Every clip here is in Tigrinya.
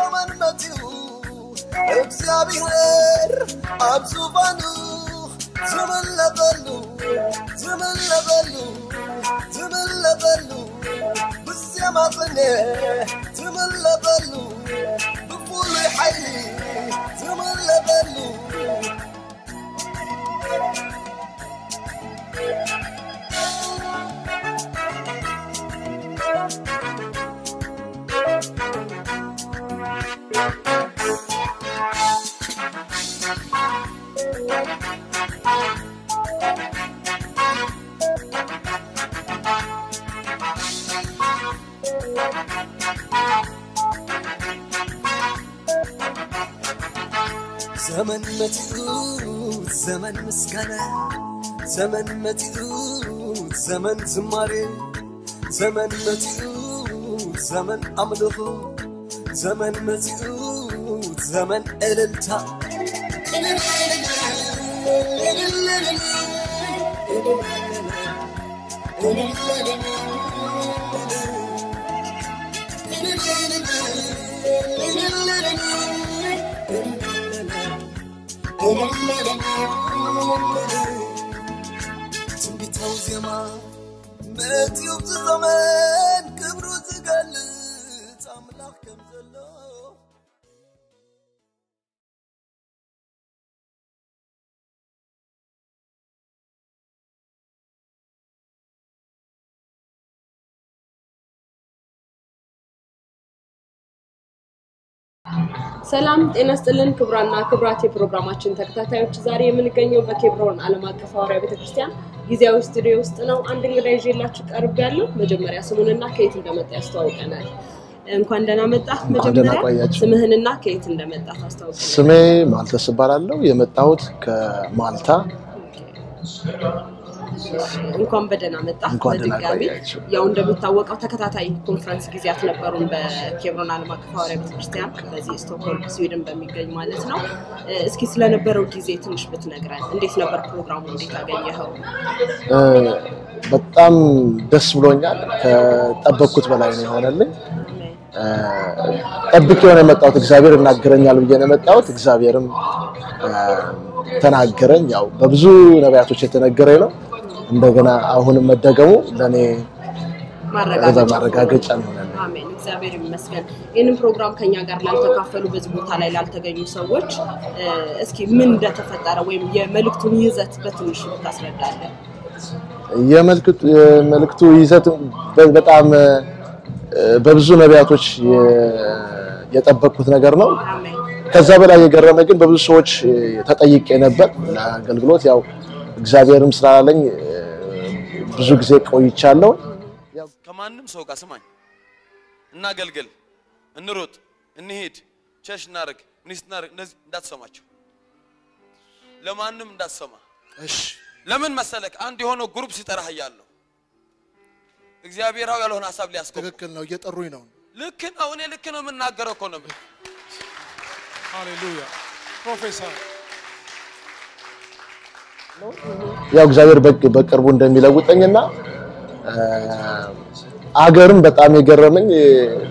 ዘመን መጺኡ እግዚኣብሔር ኣብ ዙፋኑ ዝምለኸሉ ዝምለኸሉ ዝምለኸሉ ብዜማ ቅኔ ዝምለኸሉ ብፍሉይ ሓይሊ ዝምለኸሉ ዘመን መጺኡ ዘመን ምስጋና ዘመን መጺኡ ዘመን ዝማሬ ዘመን መጺኡ ዘመን ኣምልኾ ዘመን መጺኡ ዘመን እልልታ ትንቢታዊ ዜማ መጺኡ ብዚ ዘመን ክብሩ ዝገልጽ ኣምላኽ ከም ዘሎ ሰላም ጤና ስጥልን ክብራና ክብራት የፕሮግራማችን ተከታታዮች፣ ዛሬ የምንገኘው በኬብሮን ዓለም አቀፍ ሐዋርያ ቤተክርስቲያን ጊዜያዊ ስቱዲዮ ውስጥ ነው። አንድ እንግዳ ይዤላችሁ ቀርብ ያለው መጀመሪያ ስሙንና ከየት እንደመጣ ያስተዋውቀናል። እንኳን ደህና መጣህ። እንኳን ደህና መጀመሪያ ቆያችሁ። ስምህንና ከየት እንደመጣ ታስተዋውቀናል። ስሜ ማልተስ እባላለሁ። የመጣሁት ከማልታ። እንኳን በደህና መጣህ። እንኳን ደህና በድጋሚ ቆያችሁ። ያው እንደሚታወቀው ተከታታይ ኮንፈረንስ ጊዜያት ነበሩን በኬብሮን ዓለም አቀፍ ሐዋርያ ቤተክርስቲያን በዚህ ስቶክሆልም ስዊድን በሚገኝ ማለት ነው። እስኪ ስለነበረው ጊዜ ትንሽ ብትነግረን፣ እንዴት ነበር ፕሮግራሙ? እንዴት አገኘኸው? በጣም ደስ ብሎኛል። ከጠበቅኩት በላይ ነው የሆነልኝ። ጠብቄው ነው የመጣሁት። እግዚአብሔር ይናገረኛል ብዬ ነው የመጣሁት። እግዚአብሔርም ተናገረኝ። ያው በብዙ ነቢያቶች የተነገረ ነው። እንደገና አሁንም መደገሙ ለእኔ ማረጋገጫ ማረጋገጫ ነው የሆነልኝ። አሜን፣ እግዚአብሔር ይመስገን። ይህንን ፕሮግራም ከኛ ጋር ላልተካፈሉ፣ በዚህ ቦታ ላይ ላልተገኙ ሰዎች እስኪ ምን እንደተፈጠረ ወይም የመልእክቱን ይዘት በትንሹ ብታስረዳለን። የመልክቱ የመልክቱ ይዘት በ- በጣም በብዙ ነቢያቶች የ- የጠበቅኩት ነገር ነው። አሜን። ከዛ በላይ የገረመ ግን በብዙ ሰዎች ተጠይቄ ነበር ለአገልግሎት። ያው እግዚአብሔርም ስላለኝ ብዙ ጊዜ ቆይቻለሁ። ከማንም ሰው ጋር ስማኝ፣ እናገልግል፣ እንሩጥ፣ እንሂድ፣ ቸሽ እናርግ፣ ሚኒስት እናርግ፣ እነዚህ እንዳትሰማቸው፣ ለማንም እንዳትሰማ። እሺ ለምን መሰለክ? አንድ የሆነ ግሩፕ ሲጠራህ እያለሁ እግዚአብሔራዊ ያልሆነ ሀሳብ ሊያስገቡ ትክክል ነው። እየጠሩኝ ነው። ልክ ነው። እኔ ልክ ነው የምናገረው እኮ ነው የምልህ። ሃሌሉያ ፕሮፌሰር ያው እግዚአብሔር በቅ- በቅርቡ እንደሚለውጠኝና እ፣ አገርም በጣም የገረመኝ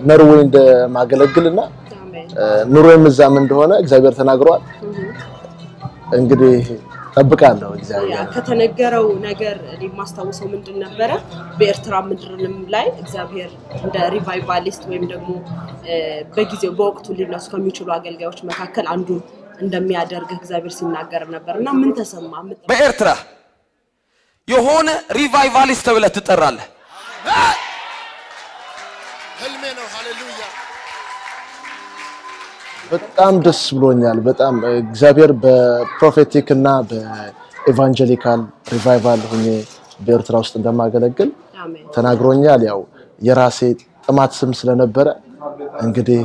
ኖርዌይ እንደማገለግልና አሜን። እ፣ ኑሮዬም እዛም እንደሆነ እግዚአብሔር ተናግሯል። እንግዲህ ጠብቃለሁ እግዚአብሔር ያ ከተነገረው ነገር እኔ የማስታውሰው ምንድን ነበረ? በኤርትራ ምድርም ላይ እግዚአብሔር እንደ ሪቫይቫሊስት ወይም ደግሞ እ፣ በጊዜው በወቅቱ ሊነሱ ከሚችሉ አገልጋዮች መካከል አንዱ እንደሚያደርግ እግዚአብሔር ሲናገር ነበር እና ምን ተሰማ? ምን በኤርትራ የሆነ ሪቫይቫሊስት ተብለህ ትጠራለህ። ህልሜ ነው። ሃሌሉያ በጣም ደስ ብሎኛል። በጣም እግዚአብሔር በፕሮፌቲክ እና በኤቫንጀሊካል ሪቫይቫል ሆኜ በኤርትራ ውስጥ እንደማገለግል አሜን። ተናግሮኛል። ያው የራሴ ጥማት ስም ስለነበረ እንግዲህ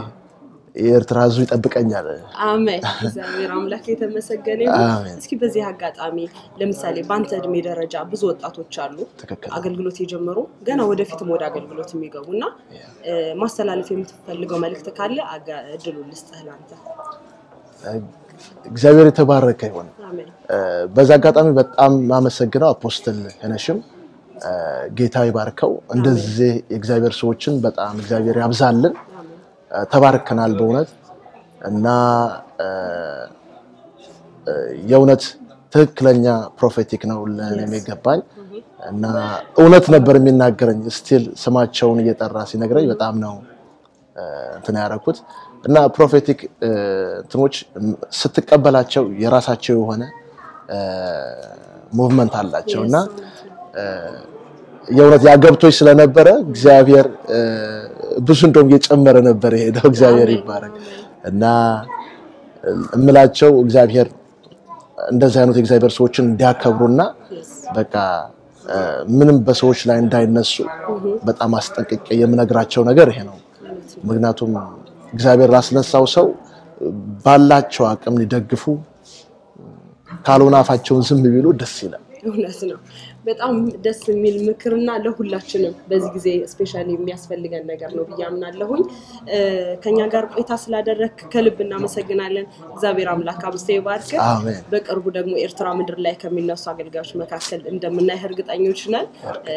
የኤርትራ ሕዝብ ይጠብቀኛል። አሜን። እግዚአብሔር አምላክ የተመሰገነ ይሁን። አሜን። እስኪ በዚህ አጋጣሚ ለምሳሌ በአንተ እድሜ ደረጃ ብዙ ወጣቶች አሉ ትክክል። አገልግሎት የጀመሩ ገና ወደፊትም ወደ አገልግሎት የሚገቡ እና እ፣ ማስተላለፍ የምትፈልገው መልእክት ካለ አጋ- እድሉን ልስጥህ ለአንተ። እግዚአብሔር የተባረከ ይሁን። አሜን። እ፣ በዛ አጋጣሚ በጣም ማመሰግነው አፖስትል ሄነሽም እ፣ ጌታ ይባርከው። እንደዚህ የእግዚአብሔር ሰዎችን በጣም እግዚአብሔር ያብዛልን። አሜን። ተባርከናል በእውነት። እና የእውነት ትክክለኛ ፕሮፌቲክ ነው ለእኔም የገባኝ። እና እውነት ነበር የሚናገረኝ። ስቲል ስማቸውን እየጠራ ሲነግረኝ በጣም ነው እንትን ያደረኩት። እና ፕሮፌቲክ እንትኖች ስትቀበላቸው የራሳቸው የሆነ ሙቭመንት አላቸው። እና የእውነት ያገብቶች ስለነበረ እግዚአብሔር ብዙ እንደውም እየጨመረ ነበር የሄደው። እግዚአብሔር ይባረክ። እና እምላቸው እግዚአብሔር እንደዚህ አይነት የእግዚአብሔር ሰዎችን እንዲያከብሩና በቃ ምንም በሰዎች ላይ እንዳይነሱ በጣም አስጠንቅቄ የምነግራቸው ነገር ይሄ ነው። ምክንያቱም እግዚአብሔር ላስነሳው ሰው ባላቸው አቅም ሊደግፉ፣ ካልሆነ አፋቸውን ዝም ቢሉ ደስ ይላል። እውነት ነው። በጣም ደስ የሚል ምክርና ለሁላችንም በዚህ ጊዜ ስፔሻሊ የሚያስፈልገን ነገር ነው ብዬ አምናለሁኝ። ከኛ ጋር ቆይታ ስላደረግክ ከልብ እናመሰግናለን። እግዚአብሔር አምላክ አብዝቶ ይባርክ። አሜን። በቅርቡ ደግሞ ኤርትራ ምድር ላይ ከሚነሱ አገልጋዮች መካከል እንደምናይህ እርግጠኞች ነን።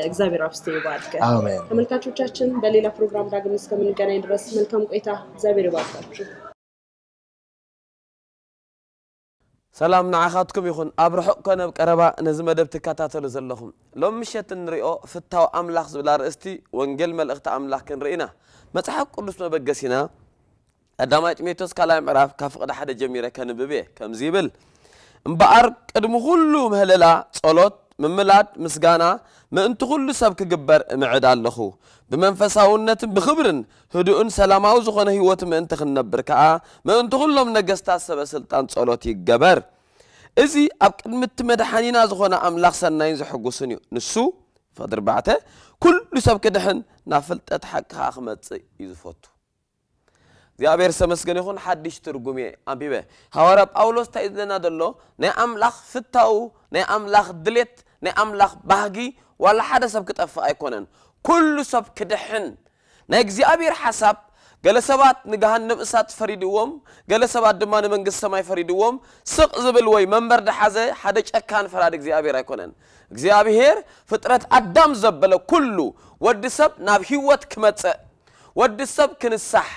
እግዚአብሔር አብዝቶ ይባርክ። አሜን። ተመልካቾቻችን በሌላ ፕሮግራም ዳግም እስከምንገናኝ ድረስ መልካም ቆይታ። እግዚአብሔር ይባርካችሁ። ሰላም ንዓኻትኩም ይኹን፣ ኣብ ርሑቕ ኮነ ኣብ ቀረባ ነዚ መደብ ትከታተሉ ዘለኹም። ሎም ምሸት እንሪኦ ፍታው ኣምላኽ ዝብል ኣርእስቲ ወንጌል መልእኽቲ ኣምላኽ ክንርኢ ኢና። መጽሓፍ ቅዱስ መበገሲና ቀዳማይ ጢሞቴዎስ ካልኣይ ምዕራፍ ካብ ፍቕዲ ሓደ ጀሚረ ከንብብ እየ። ከምዚ ይብል፣ እምበኣር ቅድሚ ኩሉ ምህለላ፣ ጸሎት፣ ምምላድ፣ ምስጋና፣ ምእንቲ ኩሉ ሰብ ክግበር እምዕድ ኣለኹ። ብመንፈሳውነትን ብኽብርን ህዱእን ሰላማዊ ዝኾነ ህይወት ምእንቲ ክንነብር ከኣ፣ ምእንቲ ኩሎም ነገስታት ሰበ ስልጣን ጸሎት ይገበር። እዚ ኣብ ቅድሚ እቲ መድሓኒና ዝኾነ ኣምላኽ ሰናይን ዘሐጉስን እዩ። ንሱ፣ ፍቕዲ ኣርባዕተ፣ ኩሉ ሰብ ክድሕን ናብ ፍልጠት ሓቂ ከኣ ክመጽእ እዩ ዝፈቱ። እግዚኣብሔር ዝተመስገነ ይኹን። ሓድሽ ትርጉም እየ ኣንቢበ። ሃዋርያ ጳውሎስ እንታይ እዩ ዝብለና ዘሎ? ናይ ኣምላኽ ፍታው፣ ናይ ኣምላኽ ድሌት፣ ናይ ኣምላኽ ባህጊ ዋላ ሓደ ሰብ ክጠፍእ ኣይኮነን። ኩሉ ሰብ ክድሕን ናይ እግዚኣብሔር ሓሳብ። ገለ ሰባት ንገሃነም እሳት ፈሪድዎም፣ ገለ ሰባት ድማ ንመንግስቲ ሰማይ ፈሪድዎም። ስቕ ዝብል ወይ መንበር ድሓዘ ሓደ ጨካን ፈራዲ እግዚኣብሔር ኣይኮነን። እግዚኣብሔር ፍጥረት ኣዳም ዘበለ ኩሉ ወዲ ሰብ ናብ ህይወት ክመጽእ፣ ወዲ ሰብ ክንሳሕ፣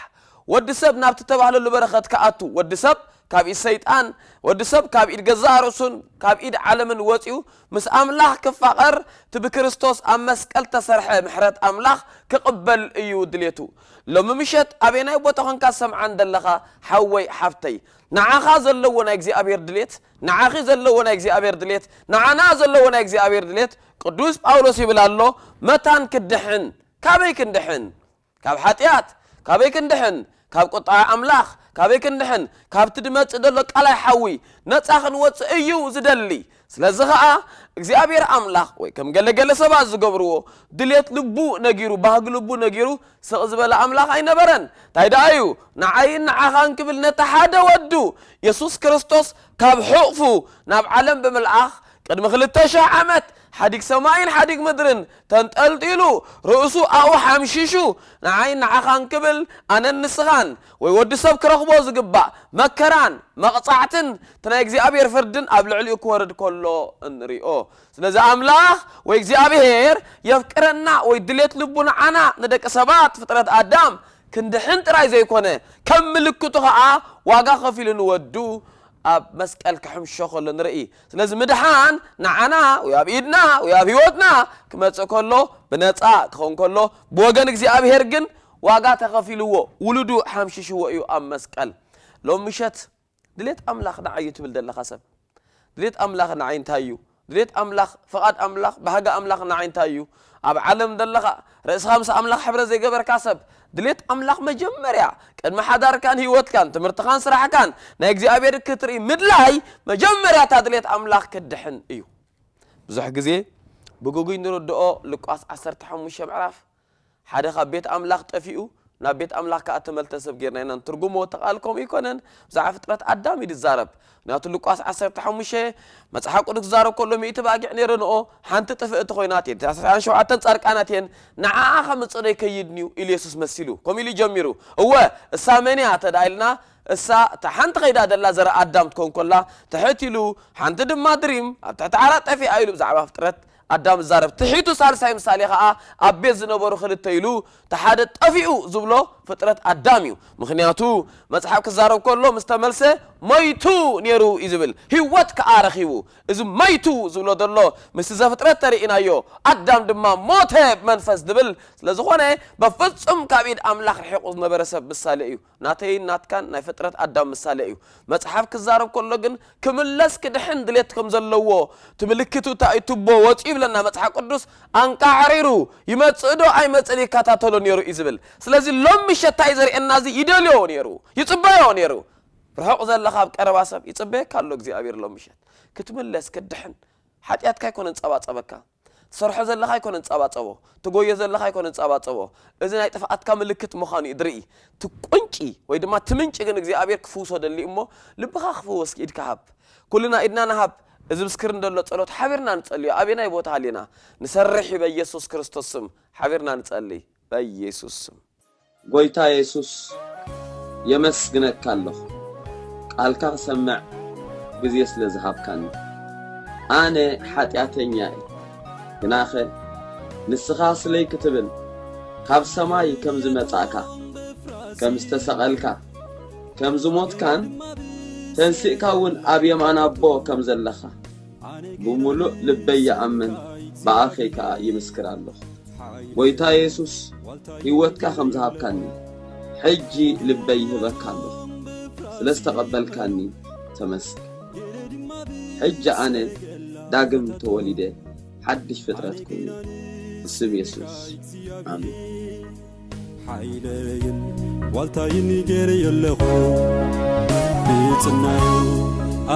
ወዲ ሰብ ናብቲ ተባህለሉ በረኸት ክኣቱ፣ ወዲ ሰብ ካብ ኢድ ሰይጣን፣ ወዲ ሰብ ካብ ኢድ ገዛእ ርእሱን ካብ ኢድ ዓለምን ወጺኡ ምስ ኣምላኽ ክፋቐር፣ እቲ ብክርስቶስ ኣብ መስቀል ተሰርሐ ምሕረት ኣምላኽ ክቕበል እዩ ድሌቱ። ሎሚ ምሸት ኣበየናይ ቦታ ኾንካ ሰምዓን ዘለኻ ሓወይ ሓፍተይ፣ ንዓኻ ዘለዎ ናይ እግዚኣብሔር ድሌት፣ ንዓኺ ዘለዎ ናይ እግዚኣብሔር ድሌት፣ ንዓና ዘለዎ ናይ እግዚኣብሔር ድሌት፣ ቅዱስ ጳውሎስ ይብል ኣሎ፣ መታን ክድሕን። ካበይ ክንድሕን? ካብ ሓጢኣት። ካበይ ክንድሕን? ካብ ቁጣ ኣምላኽ። ካበይ ክንድሕን? ካብቲ ድመጽእ ዘሎ ቃላይ ሓዊ ነጻ ክንወጽእ እዩ ዝደሊ። ስለዚ ኸኣ እግዚኣብሔር ኣምላኽ ወይ ከም ገለገለ ሰባት ዝገብርዎ ድሌት ልቡ ነጊሩ፣ ባህጊ ልቡ ነጊሩ ስቕ ዝበለ ኣምላኽ ኣይነበረን። እንታይ ደኣ እዩ? ንዓይን ንዓኻን ክብል ነቲ ሓደ ወዱ የሱስ ክርስቶስ ካብ ሕቕፉ ናብ ዓለም ብምልኣኽ ቅድሚ ክልተ ሽሕ ዓመት ሓዲግ ሰማይን ሓዲግ ምድርን ተንጠልጢሉ ርእሱ ኣብኡ ሓምሺሹ ንዓይን ንዓኻን ክብል ኣነን ንስኻን ወይ ወዲ ሰብ ክረኽቦ ዝግባእ መከራን መቕጻዕትን እቲ ናይ እግዚኣብሔር ፍርድን ኣብ ልዕሊኡ ክወርድ ከሎ እንሪኦ። ስለዚ ኣምላኽ ወይ እግዚኣብሔር የፍቅረና ወይ ድሌት ልቡ ንዓና ንደቂ ሰባት ፍጥረት ኣዳም ክንድሕን ጥራይ ዘይኮነ ከም ምልክቱ ኸዓ ዋጋ ከፊሉ ንወዱ ኣብ መስቀል ክሕምሾ ከሎ ንርኢ። ስለዚ ምድሓን ንዓና ወይ ኣብ ኢድና ወይ ኣብ ህይወትና ክመጽእ ከሎ ብነጻ ክኸውን ከሎ ብወገን እግዚኣብሔር ግን ዋጋ ተኸፊልዎ ውሉዱ ሓምሽሽዎ እዩ ኣብ መስቀል። ሎም ምሸት ድሌት ኣምላኽ ንዓይ እዩ ትብል ዘለኻ ሰብ ድሌት ኣምላኽ ንዓይ እንታይ እዩ? ድሌት ኣምላኽ ፍቓድ ኣምላኽ ባህጊ ኣምላኽ ንዓይ እንታይ እዩ? ኣብ ዓለም ዘለኻ ርእስኻ ምስ ኣምላኽ ሕብረት ዘይገበርካ ሰብ ድሌት ኣምላኽ መጀመርያ ቅድሚ ሓዳርካን ህይወትካን ትምህርትኻን ስራሕካን ናይ እግዚኣብሔር ክትርኢ ምድላይ መጀመርያ እታ ድሌት ኣምላኽ ክትድሕን እዩ። ብዙሕ ግዜ ብግጉይ ንርድኦ ሉቃስ ዓሰርተ ሓሙሽተ ምዕራፍ ሓደ ካብ ቤት ኣምላኽ ጠፊኡ ናብ ቤት ኣምላኽ ከኣ ተመልተ ሰብ ጌርና ኢና ንትርጉሞ። እቲ ቃል ከምኡ ኣይኮነን። ብዛዕባ ፍጥረት ኣዳም እዩ ዝዛረብ። ምክንያቱ ሉቃስ ዓሰርተ ሓሙሽተ መጽሓፍ ቅዱስ ክዛረብ ከሎ ሚእቲ ባጊዕ ነይረንኦ ሓንቲ ጥፍእቲ ኮይና እየን ተስዓን ሸውዓተን ጻድቃናት እየን ንዓኣ ከምጽእ ዶ ይከይድን እዩ ኢሉ የሱስ መሲሉ ከምኡ ኢሉ ጀሚሩ። እወ እሳ መን እያ ተዳ ኢልና እሳ እታ ሓንቲ ከይዳ ደላ ዘረ ኣዳም ትኮን ኮላ ትሕት ኢሉ ሓንቲ ድማ ድሪም ኣብ ትሕቲ ዓራት ጠፊኣ ኢሉ ብዛዕባ ፍጥረት ኣዳም ዝዛረብ ትሒቱ ሳልሳይ ምሳሌ ኸዓ ኣብ ቤት ዝነበሩ ክልተ ኢሉ እቲ ሓደ ጠፊኡ ዝብሎ ፍጥረት ኣዳም እዩ። ምኽንያቱ መጽሓፍ ክዛረብ ከሎ ምስ ተመልሰ ሞይቱ ነይሩ እዩ ዝብል፣ ህይወት ከኣ ረኺቡ። እዚ ሞይቱ ዝብሎ ዘሎ ምስቲ ዘፍጥረት ተርእናዮ፣ ኣዳም ድማ ሞተ ብመንፈስ ዝብል ስለ ዝኾነ፣ በፍጹም ካብ ኢድ ኣምላኽ ርሒቑ ዝነበረ ሰብ ምሳሌ እዩ። ናተይን ናትካን ናይ ፍጥረት ኣዳም ምሳሌ እዩ። መጽሓፍ ክዛረብ ከሎ ግን ክምለስ ክድሕን ድሌት ከም ዘለዎ፣ እቲ ምልክቱ እንታይ እዩ? ቱቦ ወጺኡ ይብለና መጽሓፍ ቅዱስ። ኣንቃዕሪሩ ይመጽእ ዶ ኣይመጽእን ይከታተሎ ነይሩ እዩ ዝብል። ስለዚ ሎም ምሸት እንታይ ዘርእየና? እዚ ይደልዮ ነይሩ፣ ይጽበዮ ነይሩ። ርሑቕ ዘለኻ ኣብ ቀረባ ሰብ ይጽበየካ ኣሎ እግዚኣብሔር ሎም ምሸት። ክትምለስ ክትድሕን። ሓጢኣትካ ኣይኮነን ጸባጸበካ። ትሰርሖ ዘለኻ ኣይኮነን ጸባጸቦ። ትጎዮ ዘለኻ ኣይኮነን ጸባጸቦ። እዚ ናይ ጥፍኣትካ ምልክት ምዃኑ እዩ ድርኢ። እቲ ቁንጪ ወይ ድማ እቲ ምንጪ ግን እግዚኣብሔር ክፍውሶ ደሊ እሞ፣ ልብኻ ክፍወስ ኢድካ ሃብ። ኩልና ኢድና ንሃብ። እዚ ብስክርን ዘሎ ጸሎት ሓቢርና ንጸልዮ። ኣበየናይ ቦታ ሃሊና ንሰርሕ እዩ በኢየሱስ ክርስቶስ ስም። ሓቢርና ንጸልይ በኢየሱስ ስም። ጎይታ የሱስ፣ የመስግነካ ኣለኹ፣ ቃልካ ክሰምዕ ግዜ ስለ ዝሃብካኒ። ኣነ ሓጢኣተኛ እየ፣ ግናኸ ንስኻ ስለይ ክትብል ካብ ሰማይ ከም ዝመጻእካ፣ ከም ዝተሰቐልካ፣ ከም ዝሞትካን ተንሲእካ እውን ኣብ የማን ኣቦ ከም ዘለኻ ብምሉእ ልበይ ይኣምን፣ ብኣፈይ ከኣ ይምስክር ኣለኹ። ጎይታ የሱስ፣ ህይወትካ ከም ዝሃብካኒ፣ ሕጂ ልበይ ይህበካ ኣለኹ። ስለ ዝተቐበልካኒ ተመስገን። ሕጂ ኣነ ዳግም ተወሊደ፣ ሓድሽ ፍጥረት ኩኒ። ብስም የሱስ፣ ኣሜን። ሓይለይን ዋልታይን ገይረዮ ኣለኹ፣ ብጽናዩ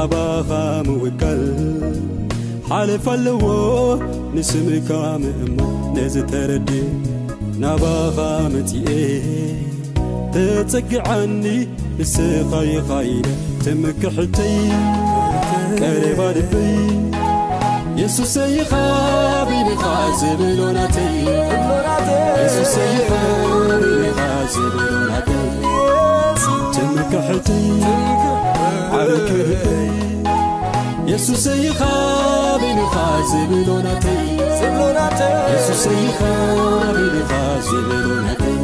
ኣባኻ ምውካል ሓለፍ ኣለዎ፣ ንስምካ ምእማን። ነዚ ተረዲእ ናባኻ መጺኤ፣ ተጸግዓኒ ንስኻ ኢኻ ኢለ ትምክሕተይ፣ ቀረባ ልበይ። የሱሰይ ኢኻ ቢልኻ ዝብሎ ናተይ፣ የሱሰይ ኢኻ ቢልኻ ዝብሎ ናተይ፣ ትምክሕተይ፣ ዓርኪ ልበይ። የሱሰይ ኢኻ ቢልኻ ዝብሎ ናተይ፣ የሱሰይ ኢኻ ቢልኻ ዝብሎ ናተይ።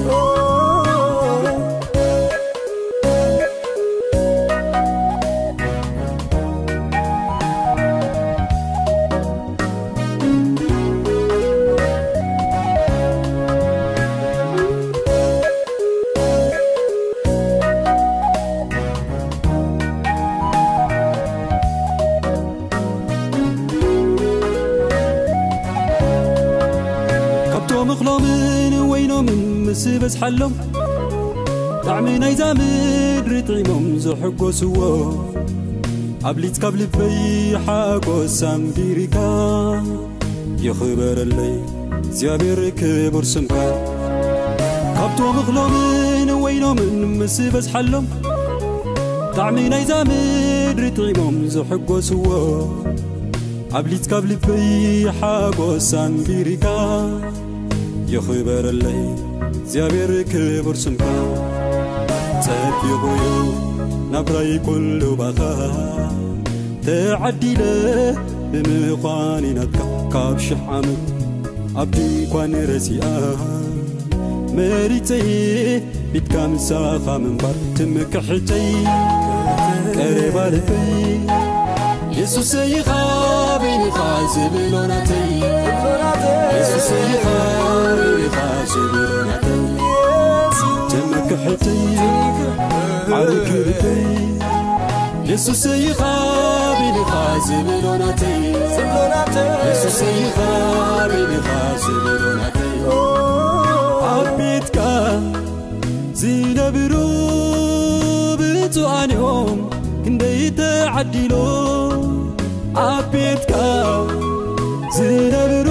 ካብቶም እኽሎምን ወይኖምን ምስ በዝሓሎም፣ ጣዕሚ ናይዛ ምድሪ ጥዒሞም ዝሕጎስዎ፣ ኣብሊጽካ ኣብ ልበይ ሓጎስ ኣንቢርካ። ይኽበረለይ እግዚኣብሔር ክቡር ስምካ። ካብቶም እኽሎምን ወይኖምን ምስ በዝሓሎም፣ ጣዕሚ ናይዛ ምድሪ ጥዒሞም ዝሕጎስዎ፣ ኣብሊጽካ ኣብ ልበይ ሓጎስ ኣንቢርካ። ይኽበረለይ እግዚኣብሔር ክቡር ስምካ። ጸቢቑ እዩ ናብራይ ኩሉ ባኻ፣ ተዓዲለ ብምዃነይ ናትካ። ካብ ሽሕ ዓመት ኣብ ድንኳን ረሲኣ፣ መሪጸ ፊትካ ምሳኻ ምንባር። ትምክሕተይ፣ ቀረባ ልበይ፣ የሱሰይ ኢኻ በይንኻ ዝብሎ ናተይ። የሱሰይ ኢኻ በይንኻ ዝብሎ ናተይ። ትምክሕተይ፣ ዓርኪ ልበይ፣ የሱሰይ ኢኻ በይንኻ ዝብሎ ናተይ። የሱሰይ ኢኻ በይንኻ ዝብሎ ናተይ። ኣብ ቤትካ ዝነብሩ ብፁዓን እዮም ክንደይ ተዓዲሎም። ኣብ ቤትካ ዝነብሩ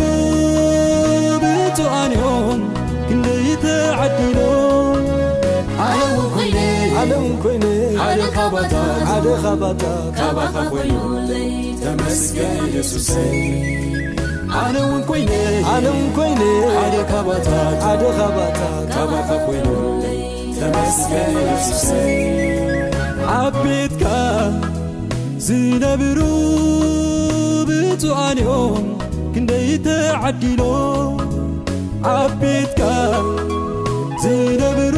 ብፁዓን እዮም ክንደይ ተዓዲሎም። ኣነ እውን ኮይነ፣ ኣነ እውን ኮይነ፣ ሓደ ካባታት፣ ሓደ ካባታት፣ ካባኻ ኮይኑለይ። ተመስገን የሱሰይ። ኣነ እውን ኮይነ፣ ኣነ እውን ኮይነ፣ ሓደ ካባታት፣ ሓደ ካባታት፣ ካባኻ ኮይኑለይ። ተመስገን የሱሰይ። ኣብ ቤትካ ዝነብሩ ብፁዓን እዮም ክንደይ ተዓዲሎም። ኣብ ቤትካ ዝነብሩ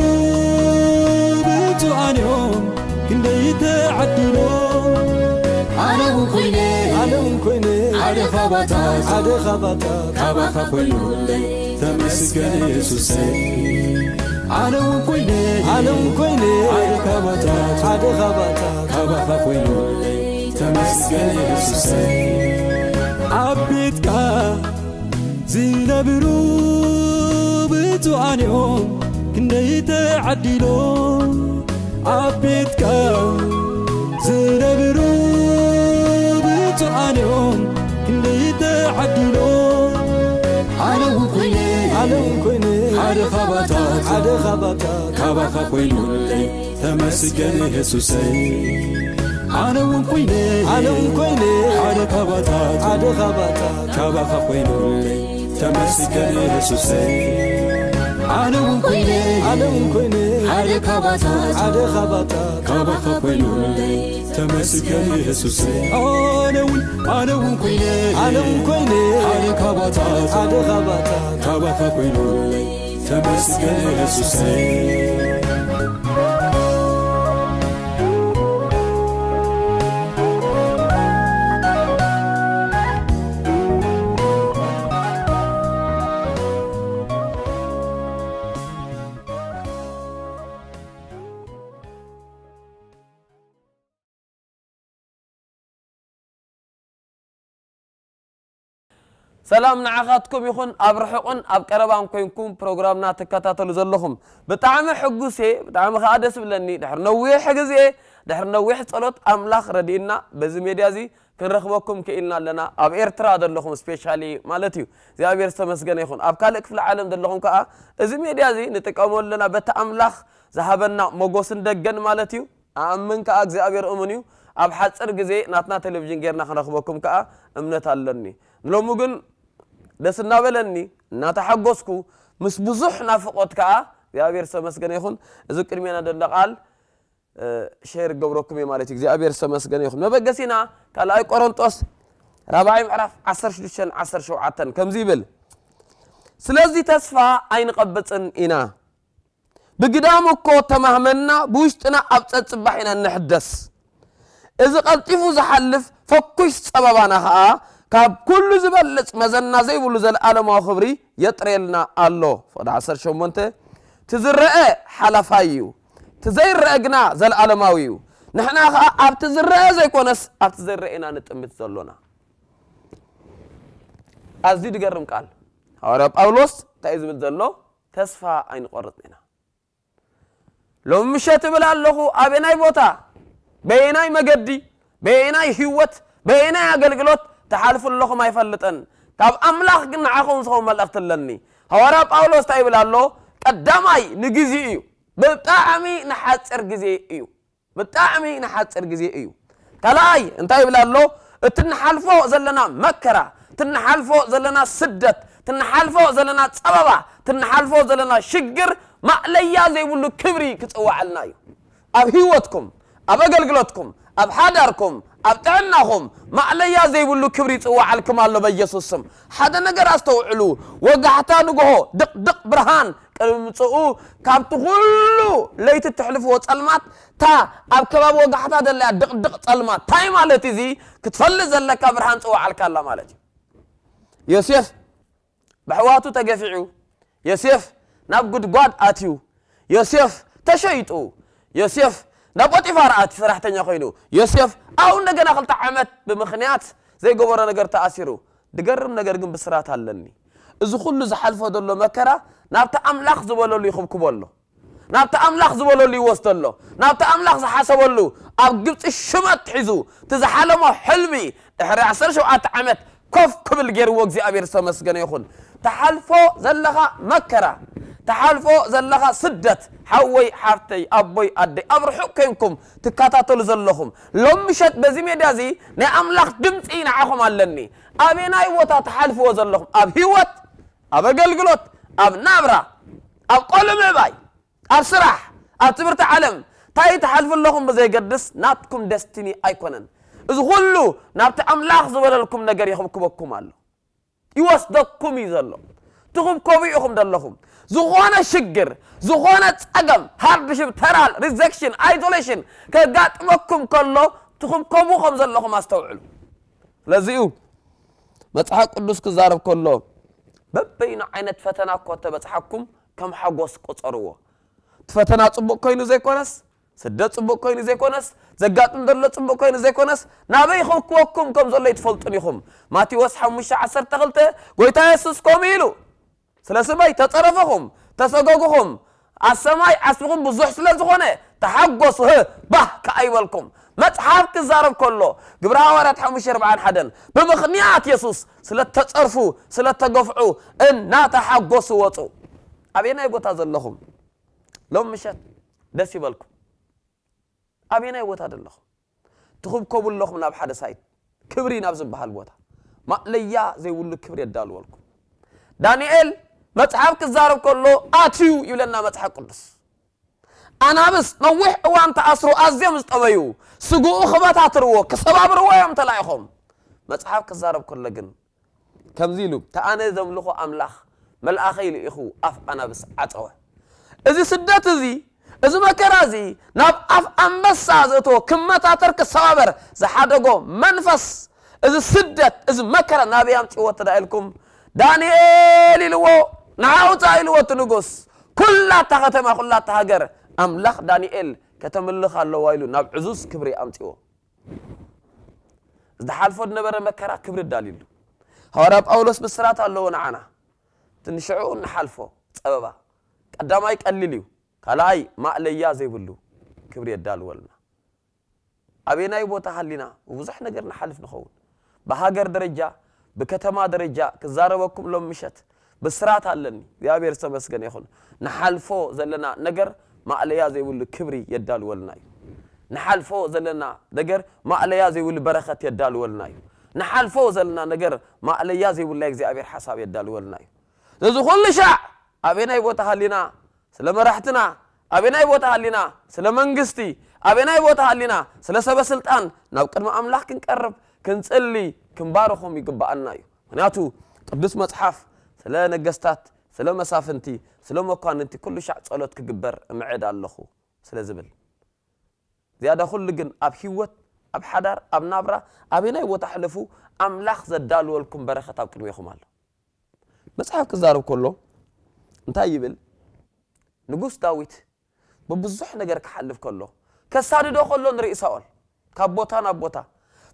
እዮም ክንደይ ተዓዲሎም። ኣነ እውን ኮይነ፣ ኣነ እውን ኮይነ፣ ሓደ ካባታት፣ ሓደ ካባታት፣ ካባኻ ኮይኑለይ፣ ተመስገን የሱሰይ። ኣነ እውን ኮይነ፣ ኣነ እውን ኮይነ፣ ሓደ ካባታት፣ ሓደ ካባታት፣ ካባኻ ኮይኑለይ፣ ተመስገን የሱሰይ። ኣብ ቤትካ ዝነብሩ ብፁዓን እዮም ክንደይ ተዓዲሎም። ኣብ ቤትካ ዝነብሩ ብፁዓን እዮም ክንደይ ተዓዲሎም። ኣነ እውን ኮይነ፣ ኣነ እውን ኮይነ፣ ሓደ ካባታት፣ ሓደ ካባታት፣ ካባኻ ኮይኑለይ፣ ተመስገን የሱሰይ። ኣነ እውን ኮይነ፣ ኣነ እውን ኮይነ፣ ሓደ ካባታት፣ ሓደ ካባታት፣ ካባኻ ኮይኑለይ፣ ተመስገን የሱሰይ። ኣነ እውን ኮይነ፣ ኣነ እውን ኮይነ፣ ሓደ ካባታት፣ ሓደ ካባታት፣ ካባኻ ኮይኑለይ፣ ተመስገን የሱሰይ። ኣነ እውን፣ ኣነ እውን ኮይነ፣ ኣነ እውን ኮይነ፣ ሓደ ካባታት፣ ሓደ ካባታት፣ ካባኻ ኮይኑለይ፣ ተመስገን የሱሰይ። ሰላም ንዓኻትኩም ይኹን፣ ኣብ ርሑቕን ኣብ ቀረባን ኮይንኩም ፕሮግራምና ትከታተሉ ዘለኹም። ብጣዕሚ ሕጉስ እየ፣ ብጣዕሚ ኸኣ ደስ ብለኒ። ድሕሪ ነዊሕ ግዜ፣ ድሕሪ ነዊሕ ጸሎት ኣምላኽ ረዲእና በዚ ሜድያ እዚ ክንረኽበኩም ክኢልና ኣለና። ኣብ ኤርትራ ዘለኹም ስፔሻሊ ማለት እዩ። እግዚኣብሔር ዝተመስገነ ይኹን። ኣብ ካልእ ክፍለ ዓለም ዘለኹም ከኣ እዚ ሜድያ እዚ ንጥቀመሉ ኣለና። በቲ ኣምላኽ ዝሃበና ሞጎስን ደገን ማለት እዩ። ኣኣምን ከኣ እግዚኣብሔር እሙን እዩ። ኣብ ሓጽር ግዜ ናትና ቴሌቪዥን ጌርና ክንረኽበኩም ከኣ እምነት ኣለኒ። ንሎሚ ግን ደስ እናበለኒ፣ እናተሓጎስኩ፣ ምስ ብዙሕ ናፍቖት ከኣ እግዚኣብሔር ዝተመስገነ ይኹን። እዚ ቅድሜና ዘሎ ቃል፣ እ፣ ሼር ክገብረኩም እየ ማለት እዩ። እግዚኣብሔር ዝተመስገነ ይኹን። መበገሲና ካልኣይ ቆሮንጦስ ራብዓይ ምዕራፍ ዓሰርተ ሽዱሽተን ዓሰርተ ሸውዓተን ከምዚ ይብል፣ "ስለዚ ተስፋ ኣይንቐብጽን ኢና። ብግዳም እኮ ተማህመና፣ ብውሽጥና ኣብ ጸጽባሕ ኢና እንሕደስ። እዚ ቀልጢፉ ዝሓልፍ ፈኩሽ ጸበባና ኸኣ ካብ ኩሉ ዝበልጽ መዘና ዘይብሉ ዘለኣለማዊ ክብሪ የጥርየልና ኣሎ." ፍቕዲ ዓሰርተ ሸሞንተ፣ "እቲ ዝረአ ሓላፋይ እዩ፣ እቲ ዘይረአ ግና ዘለኣለማዊ እዩ። ንሕና ኸኣ ኣብቲ ዝረአ ዘይኮነስ ኣብቲ ዘይረአ ኢና ንጥምት ዘሎና።" ኣዝዩ ዝገርም ቃል። ሃዋርያ ጳውሎስ እንታይ እዩ ዝብል ዘሎ? ተስፋ ኣይንቆርጽን ኢና። ሎሚ ምሸት እብል ኣለኹ፣ ኣበየናይ ቦታ፣ በየናይ መገዲ፣ በየናይ ህይወት፣ በየናይ ኣገልግሎት ትሓልፉ ኣለኹም ኣይፈልጥን። ካብ ኣምላኽ ግን ንዓኹም ዝኸውን መልእኽቲ ኣለኒ። ሃዋርያ ጳውሎስ እንታይ ይብል ኣሎ? ቀዳማይ ንግዜ እዩ፣ ብጣዕሚ ንሓጺር ግዜ እዩ። ብጣዕሚ ንሓጺር ግዜ እዩ። ካልኣይ እንታይ ይብል ኣሎ? እቲ እንሓልፎ ዘለና መከራ፣ እቲ እንሓልፎ ዘለና ስደት፣ እቲ እንሓልፎ ዘለና ጸበባ፣ እቲ እንሓልፎ ዘለና ሽግር ማእለያ ዘይብሉ ክብሪ ክጽዋዓልና እዩ። ኣብ ህይወትኩም፣ ኣብ ኣገልግሎትኩም፣ ኣብ ሓዳርኩም፣ ኣብ ጥዕናኹም ማእለያ ዘይብሉ ክብሪ ይጽዋዓልኩም ኣሎ በኢየሱስ ስም። ሓደ ነገር ኣስተውዕሉ። ወጋሕታ ንግሆ፣ ድቕድቕ ብርሃን ቅድሚ ምጽኡ፣ ካብቲ ኩሉ ለይቲ እተሕልፍዎ ጸልማት፣ እታ ኣብ ከባቢ ወጋሕታ ዘለያ ድቕድቕ ጸልማት፣ እንታይ ማለት እዚ ክትፈልጥ ዘለካ፣ ብርሃን ጽዋዓልካ ኣላ ማለት እዩ። ዮሴፍ ብኣሕዋቱ ተገፊዑ፣ ዮሴፍ ናብ ጉድጓድ ኣትዩ፣ ዮሴፍ ተሸይጡ፣ ዮሴፍ ናብ ጶጢፋር ኣትዩ ሰራሕተኛ ኮይኑ፣ ዮሴፍ ኣብኡ እንደገና ክልተ ዓመት ብምኽንያት ዘይገበሮ ነገር ተኣሲሩ። ዝገርም ነገር ግን ብስራት ኣለኒ። እዚ ኩሉ ዝሓልፎ ዘሎ መከራ ናብቲ ኣምላኽ ዝበለሉ ይኽብክቦ ኣሎ። ናብቲ ኣምላኽ ዝበለሉ ይወስዶ ኣሎ። ናብቲ ኣምላኽ ዝሓሰበሉ፣ ኣብ ግብጺ ሽመት ሒዙ፣ እቲ ዝሓለሞ ሕልሚ፣ ድሕሪ ዓሰርተ ሸውዓተ ዓመት ኮፍ ክብል ገይርዎ እግዚኣብሔር ዝተመስገነ ይኹን። ትሓልፎ ዘለኻ መከራ፣ ትሓልፎ ዘለኻ ስደት፣ ሓወይ፣ ሓፍተይ፣ ኣቦይ፣ ኣደይ፣ ኣብ ርሑቕ ኮይንኩም ትከታተሉ ዘለኹም፣ ሎም ምሸት በዚ ሜድያ እዚ ናይ ኣምላኽ ድምጺ ንዓኹም ኣለኒ። ኣበየናይ ቦታ ትሓልፍዎ ዘለኹም፣ ኣብ ህይወት፣ ኣብ ኣገልግሎት፣ ኣብ ናብራ፣ ኣብ ቆልዑ ምዕባይ፣ ኣብ ስራሕ፣ ኣብ ትምህርቲ ዓለም፣ እንታይ ትሓልፉ ኣለኹም ብዘይገድስ፣ ናትኩም ደስቲኒ ኣይኮነን። እዚ ኩሉ ናብቲ ኣምላኽ ዝበለልኩም ነገር ይኽብክበኩም ኣሎ። ይወስደኩም እዩ ዘሎ። ትኽብከቡ ኢኹም ዘለኹም። ዝኾነ ሽግር፣ ዝኾነ ጸገም፣ ሃርድሽፕ፣ ተራል፣ ሪጀክሽን፣ ኣይዞሌሽን ከጋጥመኩም ከሎ ትኽብከቡ ከም ዘለኹም ኣስተውዕሉ። ስለዚ'ዩ መጽሓፍ ቅዱስ ክዛረብ ከሎ በበይኑ ዓይነት ፈተና እኮ ተበጽሓኩም ከም ሓጎስ ቁጸርዎ። እቲ ፈተና ጽቡቕ ኮይኑ ዘይኮነስ፣ ስደት ጽቡቕ ኮይኑ ዘይኮነስ፣ ዘጋጥም ዘሎ ጽቡቕ ኮይኑ ዘይኮነስ፣ ናበይ ክወክወኩም ከም ዘሎ ኣይትፈልጡን ኢኹም። ማቴዎስ ሓሙሽተ ዓሰርተ ክልተ ጎይታ የሱስ ከምኡ ኢሉ፣ ስለ ስመይ ተጸረፍኹም፣ ተሰጎግኹም፣ ኣብ ሰማይ ዓስብኹም ብዙሕ ስለ ዝኾነ ተሓጎሱ፣ ህ፣ ባህ ከኣ ይበልኩም። መጽሓፍ ክዛረብ ከሎ፣ ግብረ ሃዋርያት ሓሙሽተ ኣርብዓን ሓደን፣ ብምኽንያት የሱስ ስለ ተጸርፉ፣ ስለ ተገፍዑ፣ እናተሓጎሱ ወጹ። ኣበየናይ ቦታ ዘለኹም? ሎም ምሸት ደስ ይበልኩም። ኣበየናይ ቦታ ዘለኹም? ትኽብከቡ ኣለኹም ናብ ሓደ ሳይት፣ ክብሪ ናብ ዝበሃል ቦታ። ማእለያ ዘይብሉ ክብሪ የዳልወልኩም። ዳንኤል መጽሓፍ ክዛረብ ከሎ ኣትዩ ይብለና መጽሓፍ ቅዱስ። ኣናብስ ነዊሕ እዋን ተኣስሩ፣ ኣዝዮም ዝጠበዩ፣ ስግኡ ክበታትርዎ፣ ክሰባብርዎ እዮም ተላኢኾም። መጽሓፍ ክዛረብ ከሎ ግን ከምዚ ኢሉ፣ "እታ ኣነ ዘምልኾ ኣምላኽ መልኣኸይ ልኢኹ ኣፍ ኣናብስ ዓጸወ።" እዚ ስደት እዚ፣ እዚ መከራ እዚ ናብ ኣፍ ኣንበሳ ዘእተዎ፣ ክመታተር ክሰባበር ዝሓደጎ መንፈስ፣ እዚ ስደት፣ እዚ መከራ ናበይ ኣምጺእዎ ተዳ ኢልኩም፣ ዳንኤል ኢልዎ፣ "ንዓ ውጻእ" ኢልዎ እቲ ንጉስ። ኩላታ ከተማ፣ ኩላታ ሃገር ኣምላኽ ዳንኤል ከተምልኽ ኣለዋ ኢሉ ናብ ዕዙዝ ክብሪ ኣምጺእዎ። ዝሓልፎ ዝነበረ መከራ ክብሪ ኣዳልዩሉ። ሃዋርያ ጳውሎስ ብስራት ኣለዎ ንዓና። ትንሽዑ እንሓልፎ ጸበባ ቀዳማይ ቀሊል እዩ፣ ካልኣይ ማእለያ ዘይብሉ ክብሪ የዳልወልና። ኣበየናይ ቦታ ሃሊና ብብዙሕ ነገር ንሓልፍ ንኸውን። ብሃገር ደረጃ፣ ብከተማ ደረጃ ክዛረበኩም ሎም ምሸት ብስራት ኣለኒ። እግዚኣብሔር ዝተመስገነ ይኹን። ንሓልፎ ዘለና ነገር ማእለያ ዘይብሉ ክብሪ የዳልወልና እዩ። ንሓልፎ ዘለና ነገር ማእለያ ዘይብሉ በረኸት የዳልወልና እዩ። ንሓልፎ ዘለና ነገር ማእለያ ዘይብሉ ናይ እግዚኣብሔር ሓሳብ የዳልወልና እዩ። ስለዚ ኩሉ ሻዕ ኣበየናይ ቦታ ሃሊና ስለ መራሕትና፣ ኣበየናይ ቦታ ሃሊና ስለ መንግስቲ፣ ኣበየናይ ቦታ ሃሊና ስለ ሰበ ስልጣን ናብ ቅድሚ ኣምላኽ ክንቀርብ፣ ክንጽሊ፣ ክንባርኾም ይግብኣና እዩ። ምኽንያቱ ቅዱስ መጽሓፍ ስለ ነገስታት፣ ስለ መሳፍንቲ፣ ስለ መኳንንቲ ኩሉ ሻዕ ጸሎት ክግበር እምዕድ ኣለኹ ስለ ዝብል። ዝያዳ ኩሉ ግን ኣብ ህይወት፣ ኣብ ሓዳር፣ ኣብ ናብራ፣ ኣበየናይ ቦታ ሕለፉ ኣምላኽ ዘዳልወልኩም በረኸት ኣብ ቅድሜኹም ኣሎ። መጽሓፍ ክዛረብ ከሎ እንታይ ይብል? ንጉስ ዳዊት ብብዙሕ ነገር ክሓልፍ ከሎ፣ ከሳድዶ ከሎ ንርኢ ሳኦል ካብ ቦታ ናብ ቦታ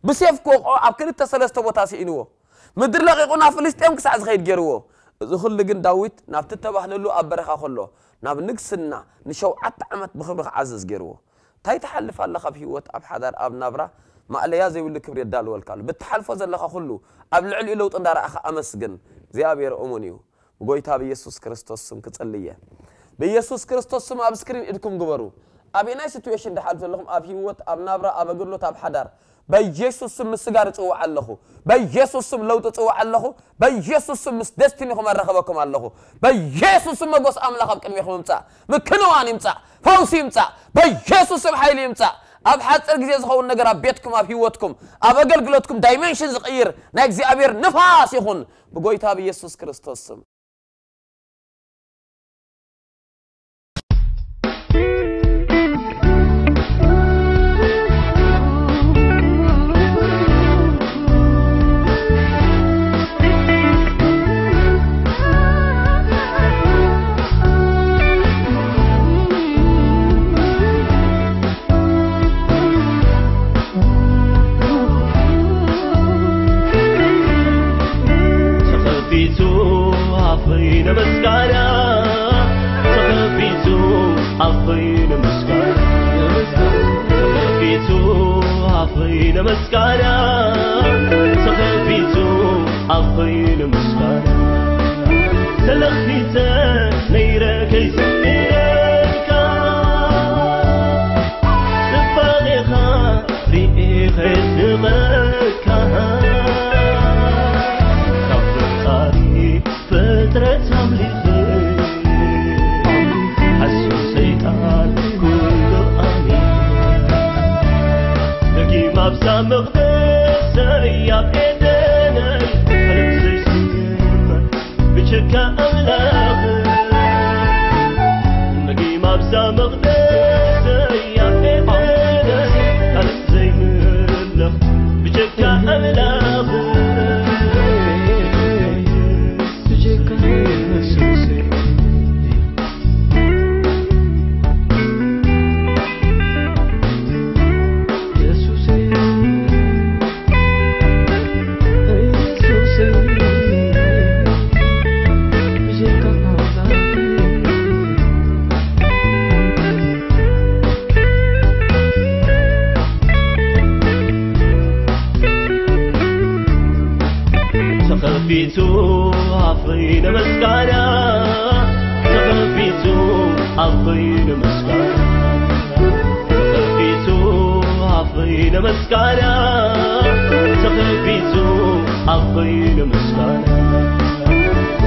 ብሴፍ ክወቕዖ ኣብ ክልተ ሰለስተ ቦታ ስኢንዎ፣ ምድሪ ለቒቑ ናብ ፍልስጤም ክሳዕ ዝኸይድ ገይርዎ። እዚ ኩሉ ግን ዳዊት ናብቲ ተባህለሉ ኣብ በረኻ ከሎ ናብ ንግስና ንሸውዓተ ዓመት ብኽብሪ ክዓዝዝ ገይርዎ። እንታይ ትሓልፍ ኣለኻ ኣብ ህይወት፣ ኣብ ሓዳር፣ ኣብ ናብራ? ማእለያ ዘይብሉ ክብሪ የዳልወልካ ኣሎ። ብትሓልፎ ዘለኻ ኩሉ ኣብ ልዕሊኡ ለውጢ እንዳረኣኻ ኣመስግን። እግዚኣብሔር እሙን እዩ። ብጎይታ ብኢየሱስ ክርስቶስ ስም ክጽልየ። ብኢየሱስ ክርስቶስ ስም ኣብ ስክሪን ኢድኩም ግበሩ። ኣበየናይ ሲትዌሽን ድሓልፍ ዘለኹም፣ ኣብ ህይወት፣ ኣብ ናብራ፣ ኣብ ኣገልግሎት፣ ኣብ ሓዳር፣ በኢየሱስ ስም ምስጋር እጽውዕ ኣለኹ። በኢየሱስ ስም ለውጢ እጽውዕ ኣለኹ። በኢየሱስ ስም ምስ ደስቲኒኹም ኣራኸበኩም ኣለኹ። በኢየሱስ ስም መጎስ ኣምላኽ ኣብ ቅድሜኹም ይምጻእ። ምክንዋን ይምጻእ። ፈውሲ ይምጻእ። በኢየሱስ ስም ሓይሊ ይምጻእ። ኣብ ሓጺር ግዜ ዝኸውን ነገር ኣብ ቤትኩም፣ ኣብ ህይወትኩም፣ ኣብ ኣገልግሎትኩም ዳይሜንሽን ዝቕይር ናይ እግዚኣብሔር ንፋስ ይኹን ብጎይታ ብኢየሱስ ክርስቶስ ስም። ተኸፊቱ ኣፈይ ንምስጋና፣ ተኸፊቱ ኣፈይ ንምስጋና፣ ተኸፊቱ ኣፈይ ንምስጋና፣ ተኸፊቱ ኣፈይ ንምስጋና። ተለኺሰ ነይረ ከይስምየካ፣ ጽባቐኻ ርኤ ከድንቐካ፣ ካብ ፈጣሪ ፍጥረት ኣምሊኸ፣ ሓሱ ሰይጣን ኩሉ ኣሚነ። ደጊም ኣብዛ መቕደሰይ ኣብ ኤደነይ፣ ዓለም ዘይስምር ብቸካ ኣምላኽ እዛ መቕደሰይ ኣብ ኤደን ካልእ ዘይምለኽ ብጀካ ኣምላኽ። ብጀካ የሱሰይ፣ የሱሰይ፣ የሱሰይ፣ ብጀካ ኣምላኽ። ተኸፊቱ ኣፈይ ንምስጋና፣ ተኸፊቱ ኣፈይ ንምስጋና፣ ተኸፊቱ ኣፈይ ንምስጋና፣ ተኸፊቱ ኣፈይ ንምስጋና።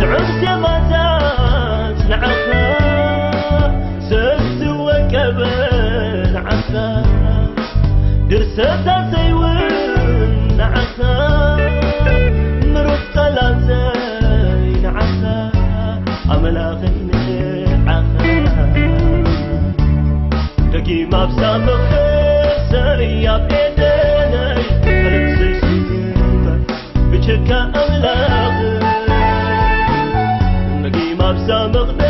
ጥዑም ዜማታት ንዓኻ ሰብ ዝወቀበ ንዓኻ፣ ድርሰታተይ እውን ንዓኻ፣ ምሩፅ ቃላተይ ንዓኻ፣ ኣምላኸይ ንዓኻ። ደጊም ኣብዛ መቕደሰይ ኣብ ኤደነይ፣ ካልእ ዘይስምዕ ብጀካ ኣምላኽ። ደጊም ኣብዛ መቕደ